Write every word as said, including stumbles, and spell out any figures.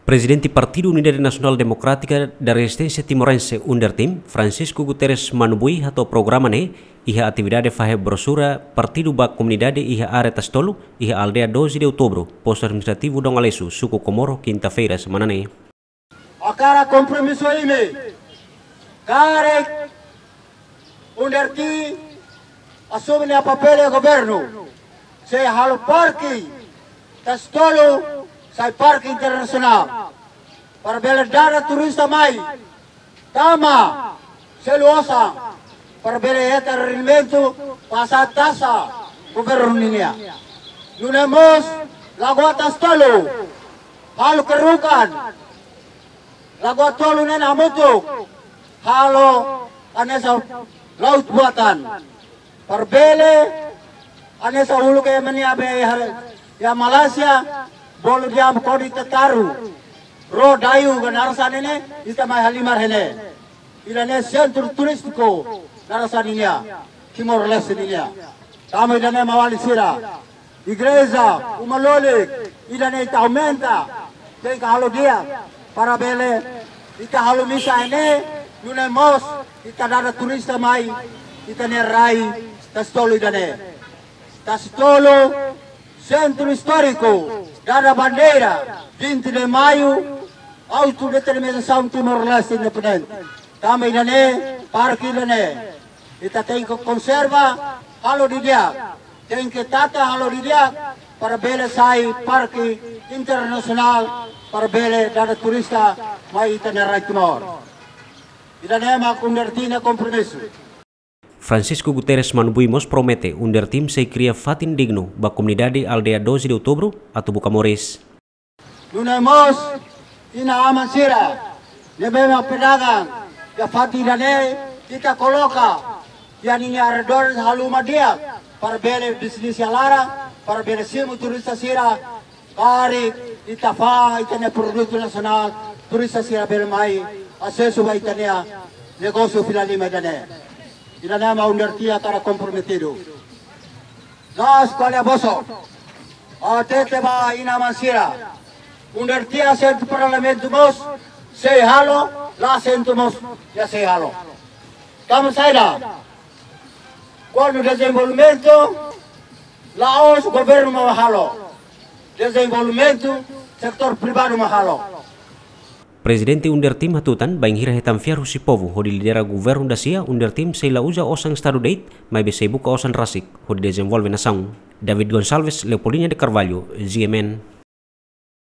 Prezidente Partidu Unidade Nasionál Demokrátika da Rezisténsia Timorense, UNDERTIM, Francisco Guterres Manubui, hato'o programa ne'e iha atividade fahe brosura partidu ba komunidade iha área Tasi Tolu, iha aldeia doze de Outubro, postu administrativu Dom Aleixo, suku Comoro, kinta-feira semana ne'e. Hakarak kompromisu imi, karik UNDERTIM asume nia papél governu, sei halo parke Tasi Tolu sai parke internasionál, para bele dada turista mai tama selu osan, para bele hetan rendimentu, pasa taxa governu nian. Nune'e mós Lagoa Tasi Tolu, halo kerukan Lagoa Tolu ne'e hamutuk, halo hanesan laut buatan. Para bele hanesan uluk ema nia be iha, iha Malaysia, bolu diam kodi tataru, ro dayu ka naran sá ne'e, ita mai halimar iha ne'e. Ida-ne'e sentru turístiku naran sá nian, Timor-Leste nian. Tanba ida-ne'e maun-alin sira, igreja, uma-loloos, ida-ne'e ita aumenta, tenke halo di'ak, para bele ita halo misa iha ne'e, nune'e mós ita dada turista mai ita-nia rai Tasi Tolu ida-ne'e. Tasi Tolu, sentru istóriku, dada bandeira vinte de Maio, autodeterminasaun Timor-Leste independente. Tanba ida-ne'e, parke ida-ne'e ita tenke konserva, halo didi'ak, tenke tata, halo didi'ak, para bele sai parke internasionál, para bele dada turista mai ita-nia rai Timor. Ida-ne'e mak UNDERTIM nia kompromisu. Francisco Guterres Manubui mós promete UNDERTIM sei kria fatin dignu ba komunidade aldeia doze de Outubro atu buka moris. Nune'e mós inan-aman sira ne'ebé mak pedagang iha fatin ida-ne'e, ita koloka iha ninia arredór halo uma di'ak, para bele bisnis iha laran, para bele simu turista sira, karik ita fa'an ita-nia produtu nasionál, turista sira bele mai asesu ba ita-nia negósiu fila lima ida-ne'e. Ida-ne'e mak UNDERTIM hakarak komprometidu. La'ós ko'alia bosok. Ha'u hatete ba inan-aman sira, UNDERTIM asentu parlamentu mós sei halo, la asentu mós la sei halo. Tanba saida? Kuandu dezenvolvimentu, la'ós governu mak halo. Dezenvolvimentu, setór privadu mak halo. Prezidente UNDERTIM hatutan, bainhira hetan fiar husi povu hodi lidera governu dasia, UNDERTIM sei la uza osan estadu de'it, maibé sei buka osan rasik hodi dezenvolve nasaun. David Gonçalves, Leopoldina de Carvalho, G M N.